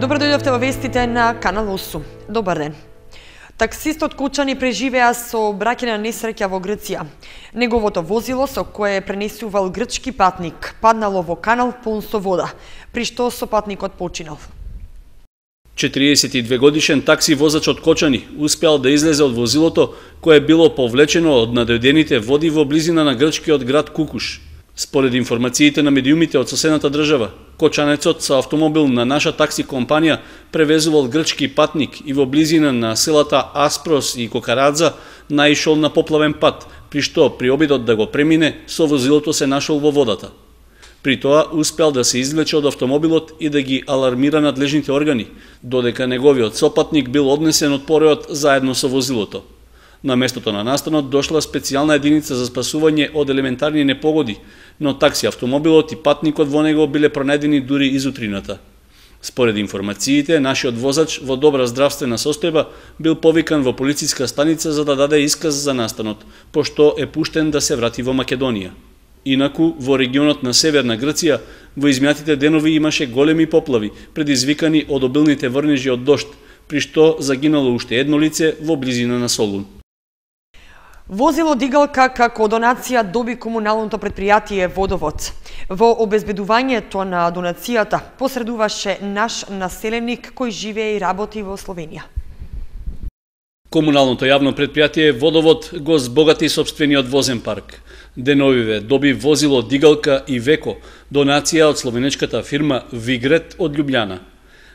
Добро дојдовте во вестите на Канал 8. Добар ден. Таксистот Кочани преживеа со бракена несреќа во Грција. Неговото возило со кое пренесувал грчки патник паднало во канал полн со вода, при што сопатникот починал. 42 годишен такси возач од Кочани успеал да излезе од возилото кое било повлечено од надојдените води во близина на грчкиот град Кукуш. Според информациите на медиумите од соседната држава, кочанецот со автомобил на наша такси компанија превезувал грчки патник и во близина на селата Аспрос и Кокарадза наишол на поплавен пат, при што при обидот да го премине, со возилото се нашол во водата. При тоа успеал да се извлече од автомобилот и да ги алармира надлежните органи, додека неговиот сопатник бил однесен од пореот заедно со возилото. На местото на настанот дошла специјална единица за спасување од елементарни непогоди, но такси автомобилот и патникот во него биле пронајдени дури изутрината. Според информациите, нашиот возач во добра здравствена состојба бил повикан во полициска станица за да даде исказ за настанот, пошто е пуштен да се врати во Македонија. Инаку, во регионот на Северна Грција, во изминатите денови имаше големи поплави, предизвикани од обилните врнежи од дожд, при што загинало уште едно лице во близина на Солун. Возило дигалка како донација доби комуналното претпријатие Водовод. Во обезбедувањето на донацијата посредуваше наш населеник кој живее и работи во Словенија. Комуналното јавно претпријатие Водовод го збогати сопствениот возен парк. Деновиве доби возило дигалка и Веко, донација од словенечката фирма Вигрет од Љубљана.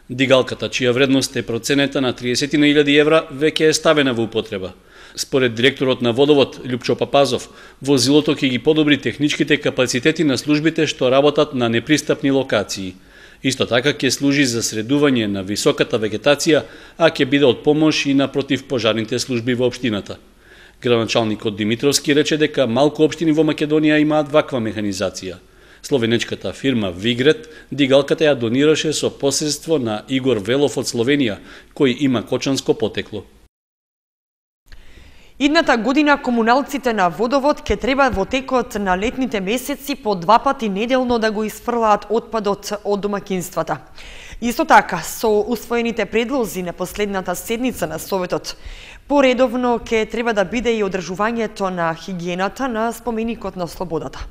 Дигалката, чија вредност е проценета на 30.000 евра, веќе е ставена во употреба. Според директорот на Водовод, Љупчо Папазов, возилото ќе ги подобри техничките капацитети на службите што работат на непристапни локации. Исто така ќе служи за средување на високата вегетација, а ќе биде од помош и на противпожарните служби во општината. Градоначалникот Димитровски рече дека малку општини во Македонија имаат ваква механизација. Словенечката фирма Вигрет дигалката ја донираше со посредство на Игор Велов од Словенија, кој има кочанско потекло. Идната година комуналците на Водовод ќе треба во текот на летните месеци по 2 пати неделно да го изфрлаат отпадот од домакинствата. Исто така, со усвоените предлози на последната седница на Советот, поредовно ќе треба да биде и одржувањето на хигиената на споменикот на Слободата.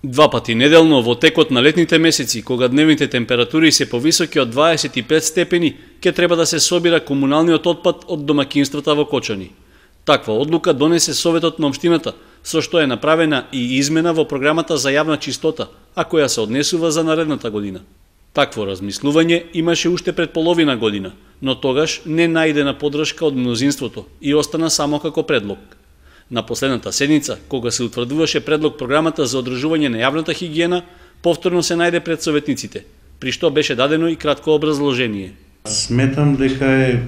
2 пати неделно во текот на летните месеци, кога дневните температури се повисоки од 25 степени, ќе треба да се собира комуналниот отпад од домакинствата во Кочани. Таква одлука донесе Советот на општината, со што е направена и измена во програмата за јавна чистота, а која се однесува за наредната година. Такво размислување имаше уште пред половина година, но тогаш не најдена поддршка од мнозинството и остана само како предлог. На последната седница, кога се утврдуваше предлог програмата за одржување на јавната хигиена, повторно се најде пред советниците, при што беше дадено и кратко образложение. Сметам дека е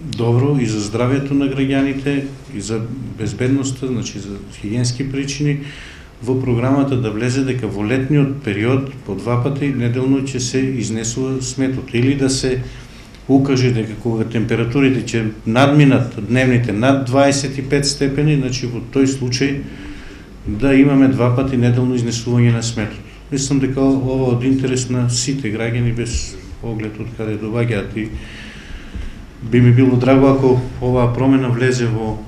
добро и за здравјето на граѓаните, и за безбедноста, значи за хигиенски причини, во програмата да влезе дека во летниот период по 2 пати неделно ќе се изнесува сметот, или да се укаже дека кога температурите ќе надминат дневните над 25 степени, значи во тој случај да имаме 2 пати неделно изнесување на сметот. Мислам дека ова од интерес на сите граѓани без оглед од каде доаѓаат и би ми било драго ако оваа промена влезе во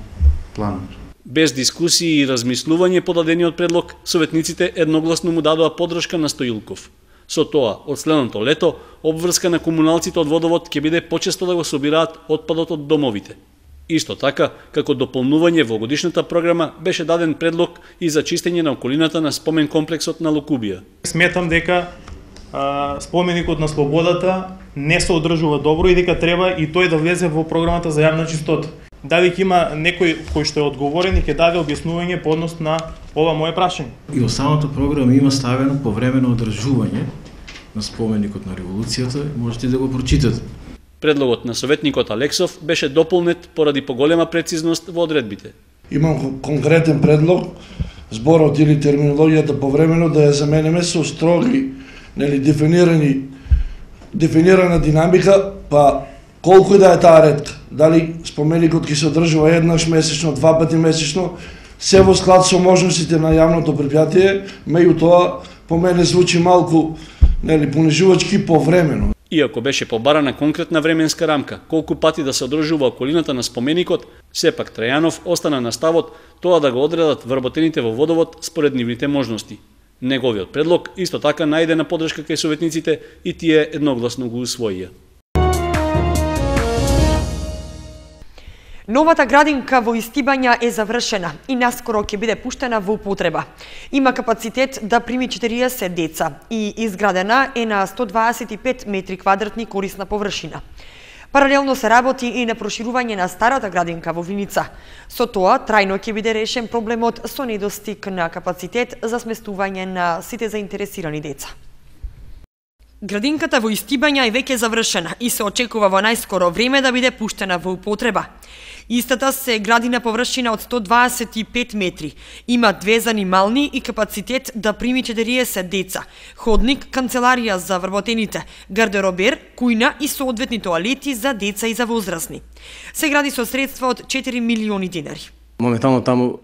планот. Без дискусии и размислување по дадениот предлог, советниците едногласно му дадоа поддршка на Стоилков. Со тоа, од следното лето, обврска на комуналците од Водовод ќе биде почесто да го собираат отпадот од домовите. Исто така, како дополнување во годишната програма, беше даден предлог и за чистење на околината на спомен комплексот на Лукубија. Сметам дека споменикот на Слободата не се одржува добро и дека треба и тој да влезе во програмата за јавна чистота. Дали има некој кој што е одговорен и ќе даде објаснување по однос на ова мое прашање. И во самата програма има ставено повремено одржување на споменикот на револуцијата, можете да го прочитате. Предлогот на советникот Алексов беше дополнет поради поголема прецизност во одредбите. Имам конкретен предлог, зборот или терминологијата повремено да ја заменеме со строги, дефинирана динамика, па колку да е таа ретка, дали споменикот ќе се одржува еднаш месечно, 2 пати месечно, се во склад со можностите на јавното претпријатие, меѓутоа по мене звучи малку нели понижувачки повремено. Иако беше побарана конкретна временска рамка, колку пати да се одржува околината на споменикот, сепак Трајанов остана на ставот тоа да го одредат вработените во водовод според нивните можности. Неговиот предлог исто така најде на поддршка кај советниците и тие едногласно го усвоија. Новата градинка во Истибања е завршена и наскоро ќе биде пуштена во употреба. Има капацитет да прими 40 деца и изградена е на 125 метри квадратни корисна површина. Паралелно се работи и на проширување на старата градинка во Виница. Со тоа трајно ќе биде решен проблемот со недостиг на капацитет за сместување на сите заинтересирани деца. Градинката во Истибања е веќе завршена и се очекува во најскоро време да биде пуштена во употреба. Истата се гради на површина од 125 метри. Има 2 занимални и капацитет да прими 40 деца. Ходник, канцеларија за вработените, гардеробер, кујна и соодветни тоалети за деца и за возрастни. Се гради со средства од 4 милиони динари. Моментално таму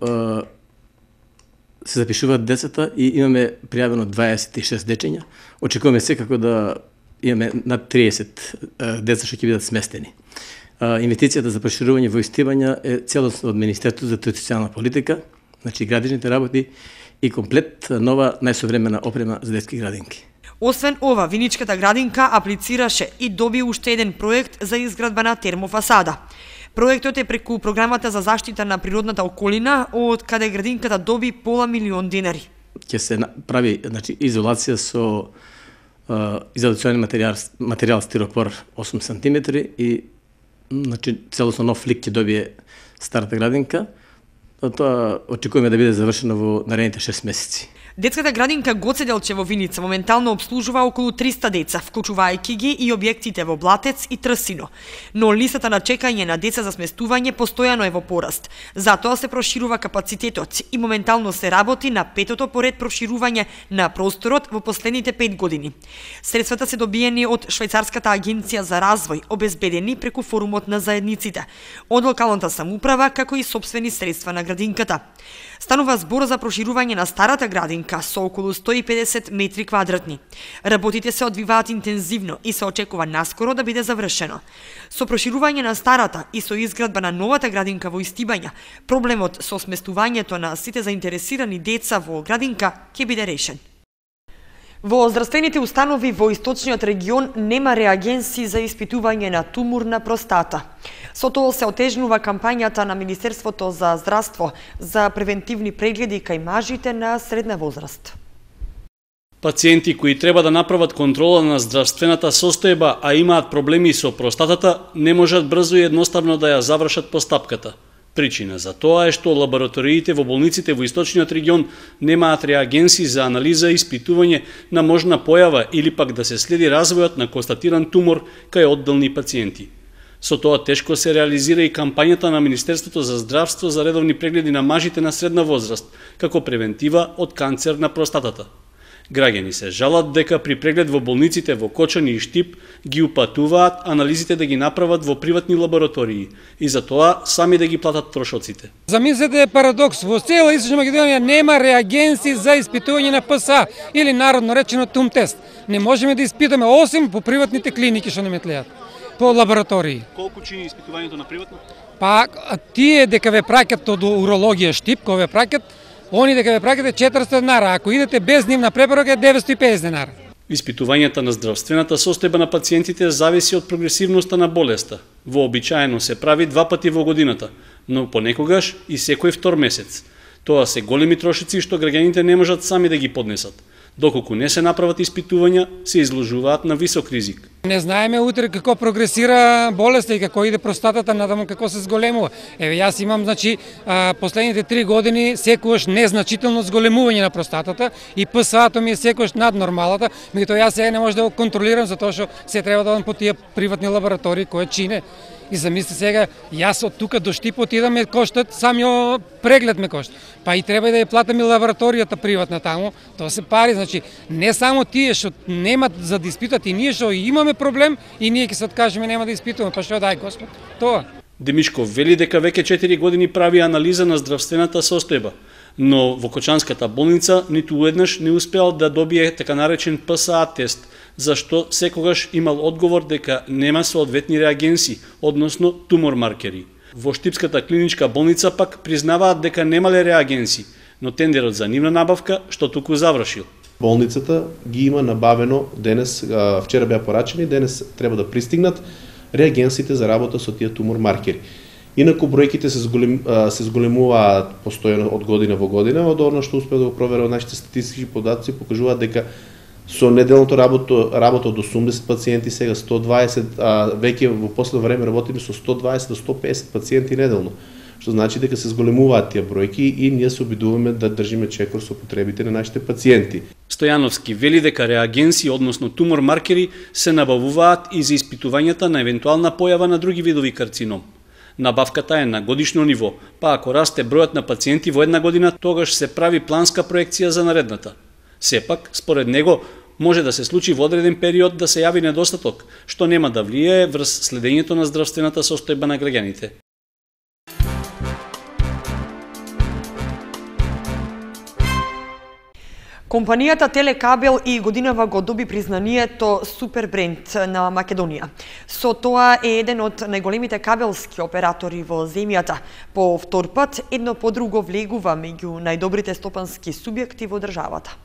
се запишуваат децата и имаме пријавено 26 дечења. Очекуваме секако да имаме над 30 деца што ќе бидат сместени. Инвестицијата за проширување во Истибања е целосно од Министерството за социјална политика, значи градичните работи и комплет нова најсовремена опрема за детски градинки. Освен ова, Виничката градинка аплицираше и доби уште еден проект за изградба на термофасада. Проектот е преку програмата за заштита на природната околина, од каде градинката доби пола милион динари. Ќе се прави, значи, изолација со изолационен материјал стиропор 8 см и значи целосно нов лик ќе добие старата градинка. Тоа очекуваме да биде завршено во наредните 6 месеци. Детската градинка Гоце Делче во Виница моментално обслужува околу 300 деца, вклучувајќи ги и објектите во Блатец и Трсино. Но листата на чекање на деца за сместување постојано е во пораст. Затоа се проширува капацитетот и моментално се работи на 5-тото поред проширување на просторот во последните 5 години. Средствата се добиени од Швајцарската агенција за развој, обезбедени преку форумот на заедниците, од локалната самоуправа како и сопствени средства на градинката. Станува збор за проширување на старата градинка со околу 150 метри квадратни. Работите се одвиваат интензивно и се очекува наскоро да биде завршено. Со проширување на старата и со изградба на новата градинка во Истибања, проблемот со сместувањето на сите заинтересирани деца во градинка ќе биде решен. Во здравствените установи во источниот регион нема реагенси за испитување на тумор на простата. Со тоа се отежнува кампањата на Министерството за здравство за превентивни прегледи кај мажите на средна возраст. Пациенти кои треба да направат контрола на здравствената состојба, а имаат проблеми со простатата, не можат брзо и едноставно да ја завршат постапката. Причина за тоа е што лабораториите во болниците во источниот регион немаат реагенси за анализа и испитување на можна појава или пак да се следи развојот на констатиран тумор кај одделни пациенти. Со тоа тешко се реализира и кампањата на Министерството за здравство за редовни прегледи на мажите на средна возраст, како превентива од канцер на простатата. Граѓани се жалат дека при преглед во болниците во Кочани и Штип ги упатуваат анализите да ги направат во приватни лаборатории и за тоа сами да ги платат трошоците. Замислете парадокс, во цела Источна Македонија нема реагенси за испитување на ПСА или народно речено ТУМ тест. Не можеме да испитаме осим по приватните клиники што не метлеат, по лаборатории. Колку чини испитувањето на приватно? Па тие дека ве праќат од урологија Штип, кога ве праќат, они дека ве праќате 400 денари, ако идете без нивна препорака е 950 денари. Испитувањата на здравствената состојба на пациентите зависи од прогресивноста на болеста. Вообичаено се прави 2 пати во годината, но понекогаш и секој втор месец. Тоа се големи трошици што граѓаните не можат сами да ги поднесат. Доколку не се направат испитувања, се изложуваат на висок ризик. Не знаеме утре како прогресира болеста и како иде простатата, надаму како се зголемува. Еве јас имам, значи, последните 3 години секогаш незначително зголемување на простатата и ПСА-то ми е секогаш над нормалата, меѓутоа јас сега не можам да го контролирам затоа што се треба да одам по тие приватни лаборатории кои чине. И замисли сега, јас од тука до Штип отидам ме коштат, самиот преглед ме кошта. Па и треба и да ја платам и лабораторијата приватна таму, тоа се пари, значи не само тие што немат за да испитат и ние што имаме проблем и ние ќе се откажеме нема да испитуваме, па што дај Господ, тоа. Демишков вели дека веќе 4 години прави анализа на здравствената состојба, но во Кочанската болница ниту еднаш не успеал да добие така наречен ПСА тест, зашто секогаш имал одговор дека нема соодветни реагенси, односно тумор маркери. Во Штипската клиничка болница пак признаваат дека немале реагенси, но тендерот за нивна набавка што туку завршил. Болницата ги има набавено денес, вчера беа порачени, денес треба да пристигнат реагенсите за работа со тие тумор маркери. Инаку бројките се зголемуваат постојано од година во година, од она што успеа да го проверува нашите статистички податоци покажуваат дека со неделното работа од 80 пациенти, сега 120, веќе во последно време работиме со 120 до 150 пациенти неделно, што значи дека се зголемуваат тие бројки и ние се обидуваме да држиме чекор со потребите на нашите пациенти. Стојановски вели дека реагенси, односно тумор маркери, се набавуваат и за испитувањата на евентуална појава на други видови карцином. Набавката е на годишно ниво, па ако расте бројот на пациенти во една година, тогаш се прави планска проекција за наредната. Сепак, според него, може да се случи во одреден период да се јави недостаток, што нема да влијае врз следењето на здравствената состојба на граѓаните. Компанијата Телекабел и годинава го доби признанието Супер бренд на Македонија. Со тоа е еден од најголемите кабелски оператори во земјата. По втор пат, едно по друго влегува меѓу најдобрите стопански субјекти во државата.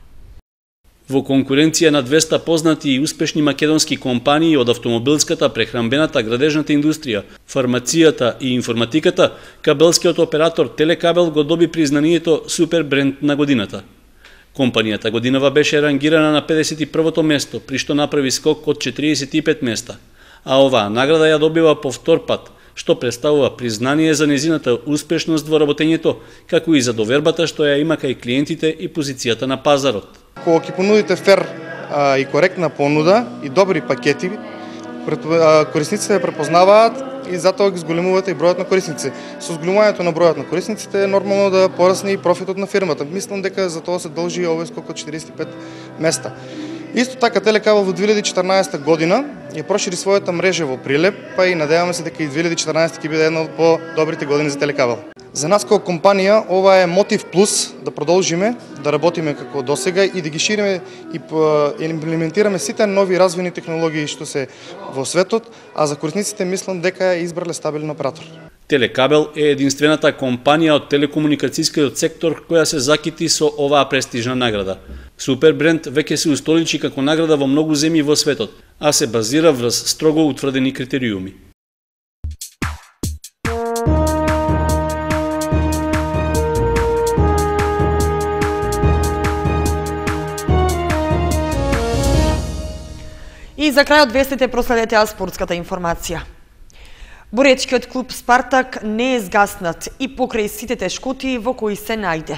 Во конкуренција на 200 познати и успешни македонски компании од автомобилската, прехранбената, градежната индустрија, фармацијата и информатиката, кабелскиот оператор Телекабел го доби признанието Супер бренд на годината. Компанијата годинава беше рангирана на 51-то место, при што направи скок од 45 места, а оваа награда ја добива по втор пат, што представува признание за незината успешност во работењето, како и за довербата што ја има кај клиентите и позицијата на пазарот. Кога ќе понудите фер и коректна понуда и добри пакети, корисниците ја препознаваат и затоа ги зголемувате и бројот на корисници. Со зголемувањето на бројот на корисниците е нормално да порасне и профитот на фирмата. Мислам дека за тоа се должи и овој скок од 45 места. Исто така Телекабел во 2014 година ја прошири својата мрежа во Прилеп, па и надеваме се дека и 2014 ќе биде една од по-добрите години за Телекабел. За нас како компанија ова е мотив плюс да продолжиме да работиме како досега и да ги шириме и имплементираме сите нови развојни технологии што се во светот, а за корисниците мислам дека е избрале стабилен оператор. Телекабел е единствената компанија од телекомуникацијскиот сектор која се закити со оваа престижна награда. Супер бренд веќе се устоличи како награда во многу земји во светот, а се базира врз строго утврдени критериуми. И за крај од вестите проследете спортската информација. Боречкиот клуб Спартак не е згаснат и покрај сите тешкоти во кои се најде.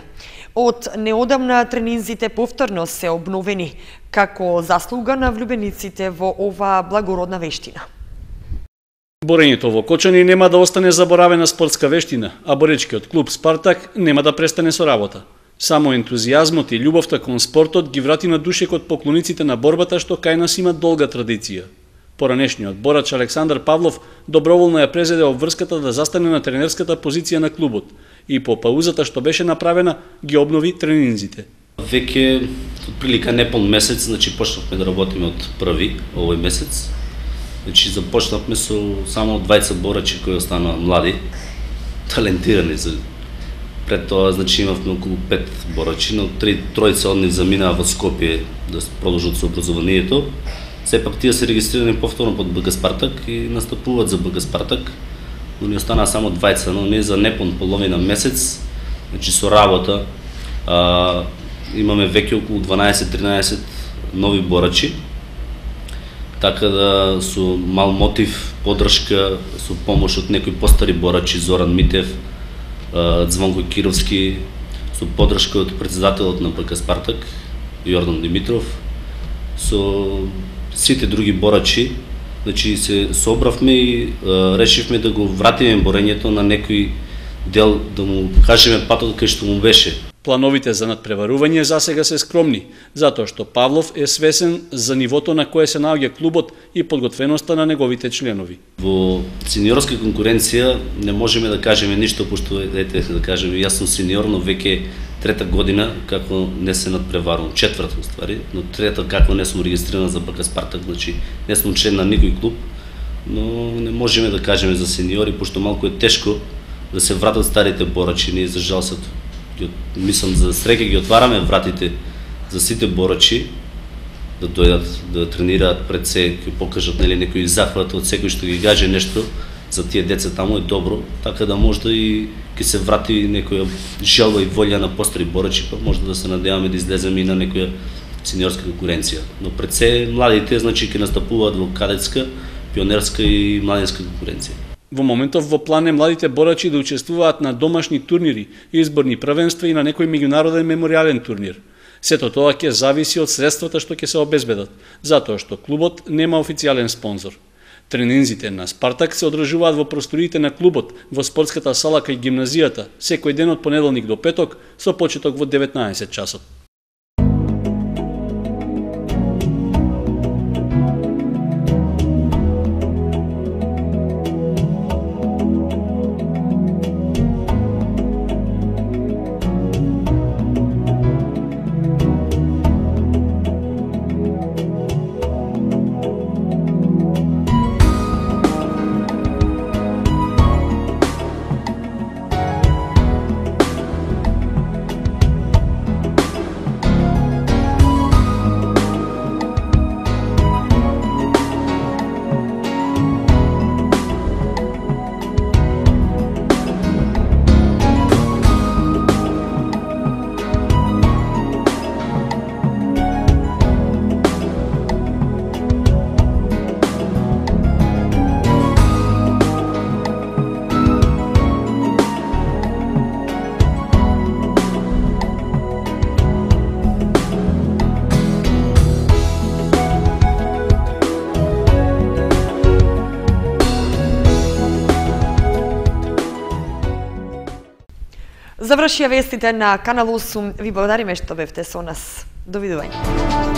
Од неодамна тренинзите повторно се обновени, како заслуга на влюбениците во оваа благородна вештина. Борењето во Кочани нема да остане заборавена спортска вештина, а боречкиот клуб Спартак нема да престане со работа. Само ентузијазмот и љубовта кон спортот ги врати на душекот поклониците на борбата што кај нас има долга традиција. Поранешниот борач Александар Павлов доброволно ја презеде обврската да застане на тренерската позиција на клубот и по паузата што беше направена ги обнови тренинзите. Веќе отприлика непон месец, значи почнавме да работиме од први овој месец. Значи започнавме со само 20 борачи кои останаа млади, талентирани за пред тоа, значи имавме околу 5 борачи, но тројца од нив заминаа во Скопје да продолжат со образованието. Сепак тие се регистрирани повторно под БГ Спартак и настапуваат за БГ Спартак, но ни останаа само 20, но не за непон половина месец. Значи со работа имаме веќе околу 12-13 нови борачи, така да со мал мотив, поддршка, со помош од некои постари борачи, Зоран Митев, Звонко Кировски, со поддршка од председателот на БГ Спартак, Јордан Димитров, со сите други борачи, значи се собравме и решивме да го вратиме борењето на некој дел, да му кажеме патот кај што му беше. Плановите за надпреварување засега се скромни, затоа што Павлов е свесен за нивото на кое се наоѓа клубот и подготвеноста на неговите членови. Во сениорска конкуренција не можеме да кажеме ништо, пошто да кажеме, јас сум сениор, но веќе трета година како не се надпреварувам, четврта уствари, но трета како не сум регистриран за БК Спартак, значи не сум член на никој клуб, но не можеме да кажеме за сениори, пошто малку е тешко да се вратат старите борачи. Ние за жал мислам за среќа ги отвараме вратите за сите борачи да дојдат да тренираат пред се, ќе покажат нели некои захват од секој што ги каже нешто за тие деца таму е добро, така да може и ќе се врати некоја желба и волја на постари борачи, па може да се надеваме да излеземе и на некоја сениорска конкуренција. Но пред се младите значи ќе настапуваат во кадетска, пионерска и младинска конкуренција. Во моментов во план е младите борачи да учествуваат на домашни турнири, изборни првенства и на некој меѓународен меморијален турнир. Сето тоа ќе зависи од средствата што ќе се обезбедат, затоа што клубот нема официјален спонзор. Тренинзите на Спартак се одржуваат во просториите на клубот, во спортската сала кај гимназијата, секој ден од понеделник до петок, со почеток во 19 часот. Завршија вестите на Канал 8. Ви благодариме што бевте со нас. Довидување.